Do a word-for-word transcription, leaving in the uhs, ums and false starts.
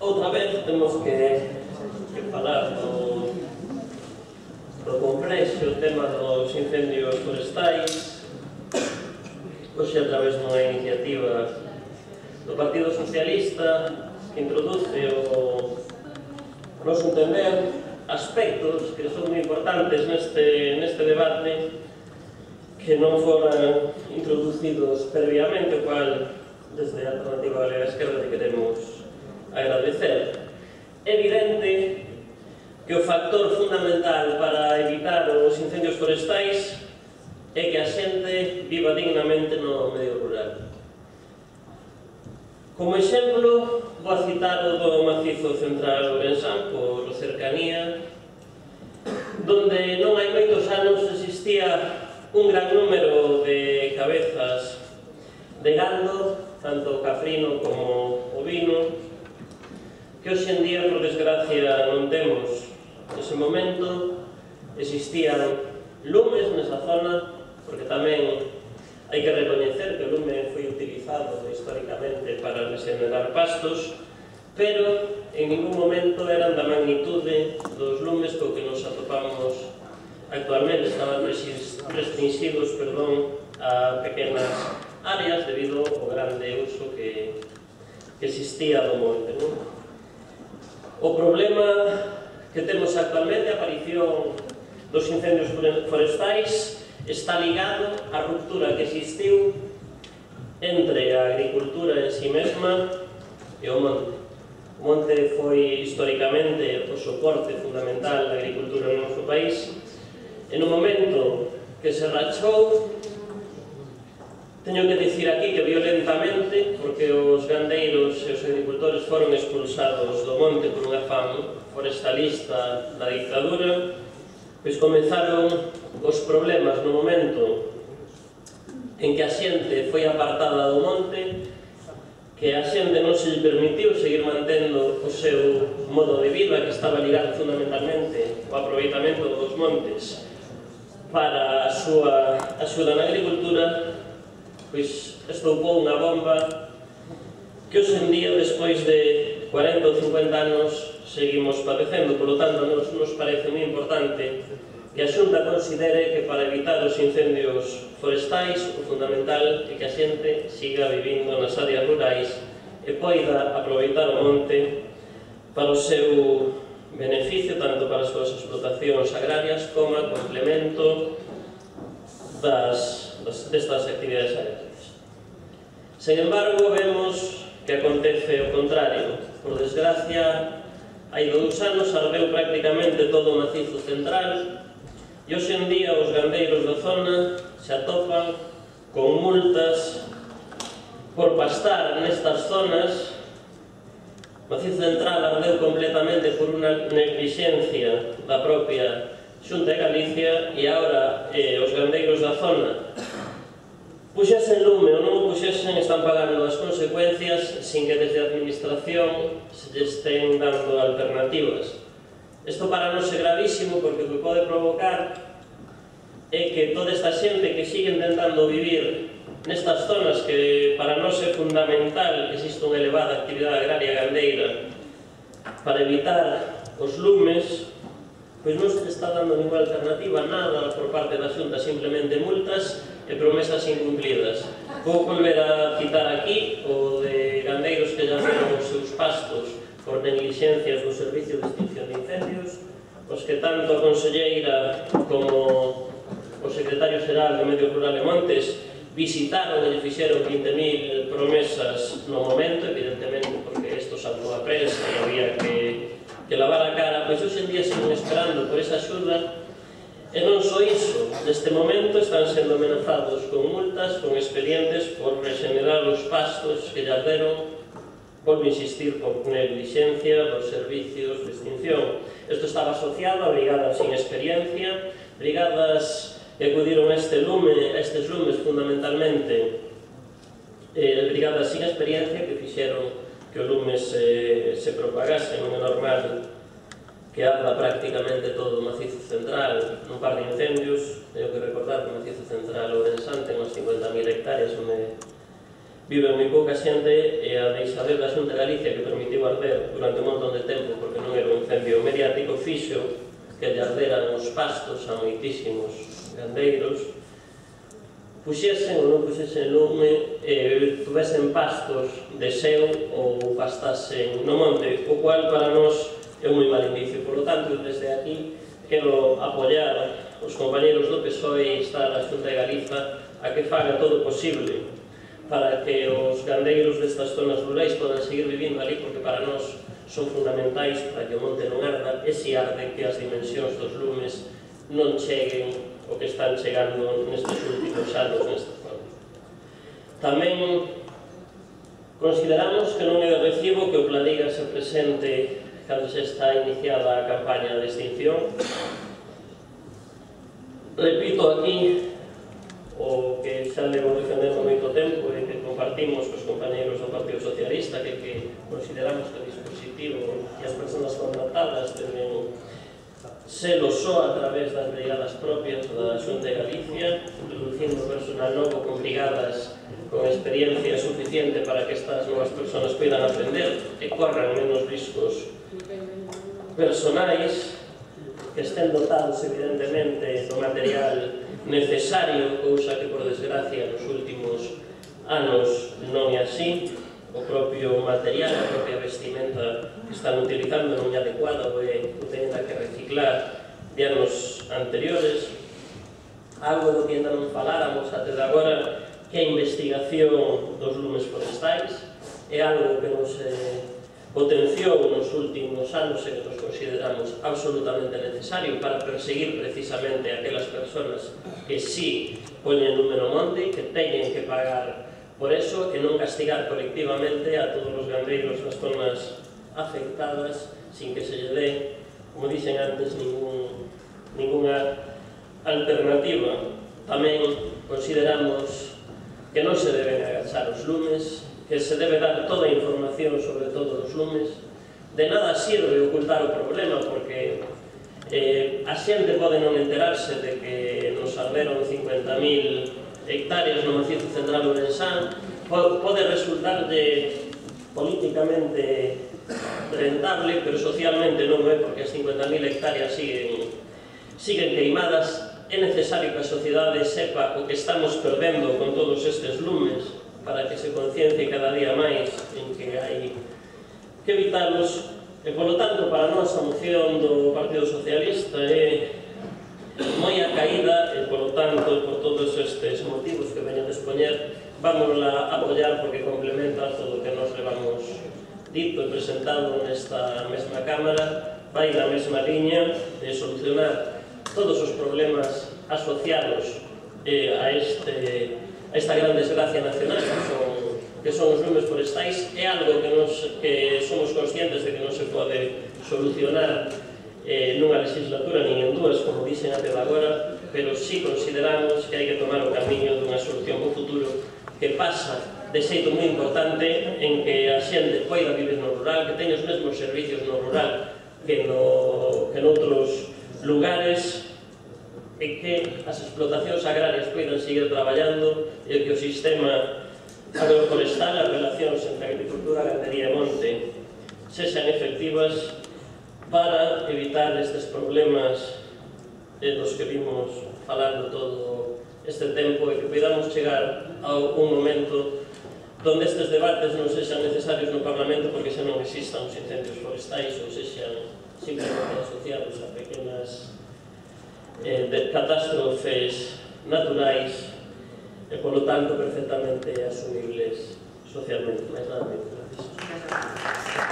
outra vez temos que, que falar do, do complexo tema dos incendios forestais. Hoxe, a través dunha iniciativa do Partido Socialista, que introduce o, o noso entender aspectos que son moi importantes neste, neste debate, que non foran introducidos previamente, o cual desde a Alternativa Galega Esquerda que queremos agradecer. É evidente que o factor fundamental para evitar os incendios forestais é que a xente viva dignamente no medio rural. Como exemplo, vou a citar o do Macizo Central Ourensán, por cercanía, donde non hai moitos anos existía un gran número de cabezas de gando, tanto caprino como ovino, que hoxe en día, por desgracia, non temos. Nese momento existían lumes nesa zona, porque tamén hai que recoñecer que o lume foi utilizado históricamente para regenerar pastos, pero en ningún momento eran da magnitude dos lumes co que nos atopamos actualmente. Estaban restringidos, perdón, a pequenas áreas debido ao grande uso que, que existía do monte, non? O problema que temos actualmente, a aparición dos incendios forestais, está ligado á ruptura que existiu entre a agricultura en si mesma e o monte. O monte foi históricamente o soporte fundamental da agricultura no noso país. En un momento que se rachou, teño que dicir aquí que violentamente, porque os gandeiros e os agricultores foron expulsados do monte por un afán forestalista da dictadura, pois comenzaron os problemas no momento en que a xente foi apartada do monte, que a xente non se permitiu seguir mantendo o seu modo de vida, que estaba ligado fundamentalmente ao aproveitamento dos montes para a súa axuda na agricultura, pois estoupou unha bomba que hoxe en día, despois de cuarenta ou cincuenta anos, seguimos padecendo. Por lo tanto, nos, nos parece moi importante que a Xunta considere que para evitar os incendios forestais o fundamental é que a xente siga vivindo nas áreas rurais e poida aproveitar o monte para o seu beneficio, tanto para as súas explotacións agrarias como a complemento das, das, destas actividades agrarias. Sen embargo, vemos que acontece o contrario. Por desgracia, hai dous anos ardeu prácticamente todo o Macizo Central e hoxe en día os gandeiros da zona se atopan con multas por pastar nestas zonas. O Macizo Central ardeu completamente por unha negligencia da propia Xunta de Galicia e agora eh, os gandeiros da zona puxesen lume ou non o puxesen, están pagando as consecuencias sin que desde a administración se lle estén dando alternativas. Isto para nós é gravísimo, porque o que pode provocar é que toda esta xente que sigue intentando vivir nestas zonas que para nós é fundamental que exista unha elevada actividade agraria gandeira para evitar os lumes, pois non se está dando ninguna alternativa, nada por parte da Xunta, simplemente multas e promesas incumplidas. Vou volver a citar aquí o de gandeiros que já veron os seus pastos por negligencias do Servicio de Extinción de Incendios, os que tanto a conselleira como o secretario xeral de Medio Rural e Montes visitaron e fixeron vinte mil promesas no momento, evidentemente porque isto saltou a prensa e había que, que lavar a cara, pois hoxe en día siguen esperando por esa axuda. E non só iso, neste momento están sendo amenazados con multas, con expedientes por regenerar os pastos que lles deron, volvo a insistir, por negligencia dos servicios de extinción. Isto estaba asociado a brigadas sin experiencia, brigadas que acudiron a este lume, a estes lumes fundamentalmente, eh, brigadas sin experiencia que fixeron que o lume se, se propagase. Non é normal que arda prácticamente todo o Macizo Central nun par de incendios. Tenho que recordar que o Macizo Central Ourensán ten uns cincuenta mil hectáreas onde vive moi pouca xente e a deixadez da Xunta de Galicia que permitiu arder durante un montón de tempo porque non era un incendio mediático fixo que lle arderan os pastos a moitísimos gandeiros, puxesen ou non puxesen lume e tuvesen pastos de seu ou pastasen no monte, o cual para nós é un moi mal indicio. Por lo tanto, desde aquí quero apoiar os compañeros do P S O E e instar a Xunta de Galiza a que faga todo o posible para que os gandeiros destas zonas rurais podan seguir vivindo ali, porque para nós son fundamentais para que o monte non arda e se arde que as dimensións dos lumes non cheguen o que están chegando nestes últimos anos nesta zona. Tamén consideramos que non é de recibo que o Pladiga se presente cando se está iniciada a campaña de extinción. Repito aquí o que xa levo defendendo moito tempo e que compartimos cos compañeros do Partido Socialista, que, que consideramos que o dispositivo e as persoas contratadas deben selo só a través das brigadas propias da Xunta de Galicia, reducindo personal novo con brigadas con experiencia suficiente para que estas novas persoas poidan aprender e corran menos riscos personais, que estén dotados evidentemente do material necesario, cousa que por desgracia nos últimos anos non é así. O propio material, a propia vestimenta que están utilizando non é adecuada ou é que teñen que reciclar de anos anteriores. Algo do que ainda non faláramos até de agora, que a investigación dos lumes forestais é algo que nos eh, potenciou nos últimos anos e que nos consideramos absolutamente necesario para perseguir precisamente aquelas persoas que sí poñen lume no monte, que teñen que pagar por eso, e non castigar colectivamente a todos os gandeiros nas zonas afectadas sin que se lle dé, como dixen antes, ningún, ninguna alternativa. Tamén consideramos que non se deben agachar os lumes, que se debe dar toda a información sobre todos os lumes. De nada sirve ocultar o problema, porque eh, a xente pode non enterarse de que nos arderon cincuenta mil hectáreas no macizo central ourensán, pode resultar de políticamente rentable, pero socialmente non é, porque as cincuenta mil hectáreas siguen, siguen queimadas. É necesario que a sociedade sepa o que estamos perdendo con todos estes lumes para que se conciencie cada día máis en que hai que evitarlos. E, polo tanto, para nós a moción do Partido Socialista é moi a caída e, polo tanto, por todos estes motivos que veño a expoñer, vamos a apoiar porque complementa todo o que nos levamos dito e presentado nesta mesma Cámara, vai na mesma liña de solucionar todos os problemas asociados eh, a, este, a esta gran desgracia nacional que son, que son os lumes forestais. É algo que, nos, que somos conscientes de que non se pode solucionar eh, nunha legislatura nin en dúas, como dixen até de agora, pero sí consideramos que hai que tomar o camiño dunha solución para o futuro que pasa de xeito moi importante en que a xente poida vivir no rural, que teña os mesmos servicios no rural que, no, que noutros lugares, e que as explotacións agrarias poidan seguir traballando e que o sistema agroforestal, as relacións entre agricultura, gandería e monte sexan efectivas para evitar estes problemas dos que vimos falando todo este tempo e que podamos chegar a un momento donde estes debates non sexan necesarios no Parlamento porque xa non existan os incendios forestais ou sexan simplemente asociados a pequenas eh, de catástrofes naturais e, polo tanto, perfectamente asumibles socialmente. Mais nada, gracias.